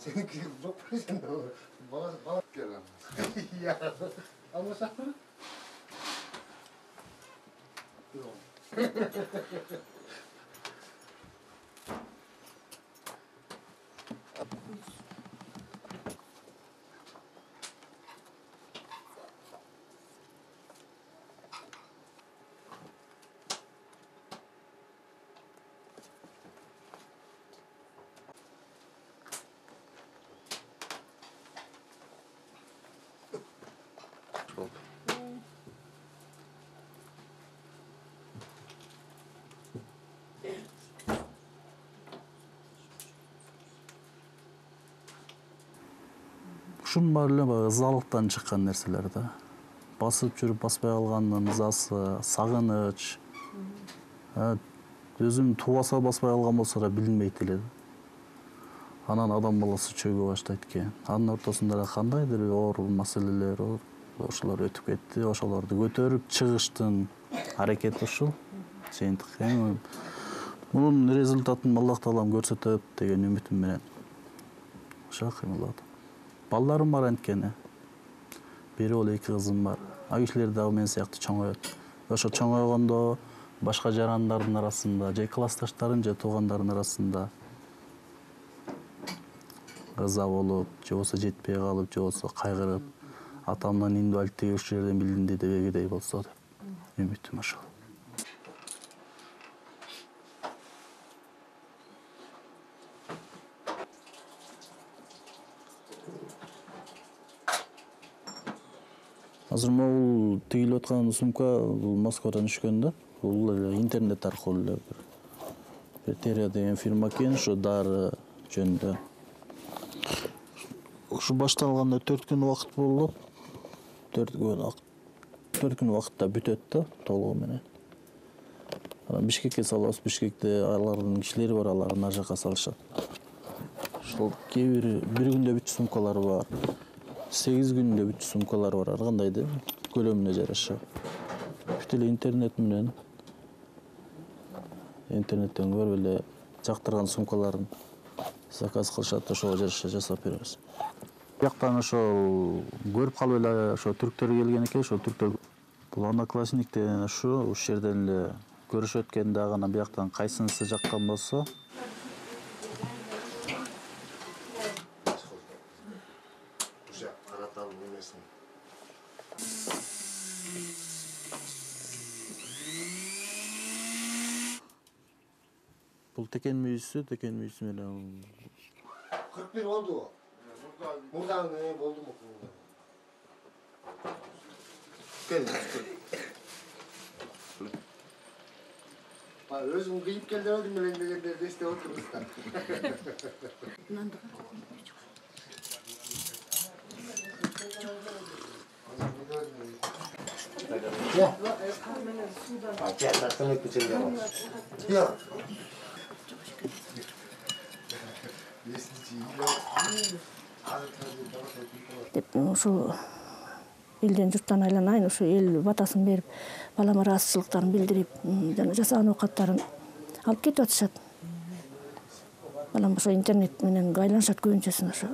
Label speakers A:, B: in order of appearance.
A: Senin çok sen de bana gelen. Ya ama sakın. Yok.
B: Ушунун баары эле баягы ызалыктан чыккан нерселер да. Басып жүрүп баспай калгандын ызасы, сагыныч. Өзүм тубаса баспай калган болсо да билинбейт эле. Анан адам баласы чөгө баштайт экен. Анын ортосунда да кандайдыр оор маселелер, ошолор өтүп кетти. Ошолорду көтөрүп чыгыштын аракети ушул. Жыйынтык. Мунун результатын Аллах таалам көрсөтөт деген үмүтүм менен. Ошо кыймылдап. Балдарым бар анткени. Бери боло 2 кызым бар. А кишилер дагы мен сыяктуу чоңоет. Ошо чоңойгондо башка жарандардын арасында, же классташтарын, же туугандардын арасында ыза болуп, же болбосо жетпей калып, же болбосо кайгырып, атамдын инвалидтиги ушул жерден билинди деп эгедей болсо деп үмүтүм ошол. Азыр бул тигилип аткан сумка бул Москвадан түшкөн да. Бул интернет аркылуу эле Терия деген фирма экен, ошо дары жөнүндө. Ушу башталганда 4 күн убакыт болот. 4 күн убакытта бүтөт да толугу менен. Анан Бишкекке салабыз, Бишкекте алардын кишилери бар, алар ар жака салышат. Ошол кээ бир күндө бүтчү сумкалар бар. 8 күндө бүтчү сумкалар бар, ар кандай да көлөмүнө жараша. Бүт эле интернет менен интернеттен көрүп эле жактырган сумкаларын заказ кылышат, ошого жараша жасап беребиз. Бияктан ошол көрүп калып эле ошо түрктөр келген экен, ошол түрктөр бул Одноклассник деген ушул жерден эле көрүшөт экен дагы, анан бияктан кайсынысы жаккан болсо бул текен мүйүсү менен
A: 41 oldu. Buradan oldu mu? Gel. Özüm kıyıp geldi öldüm elinde deste oturmuşlar. Ya. Gel taktım hep içinde var. Ya.
C: Деп ушул элден журттан айланайын, ушу эл батасын берип, балама ыраазычылыктарын билдирип, жана жасаган оокаттарын алып кетип атышат. Балам ошо интернет менен айланышат көбүнчөсүн ошо.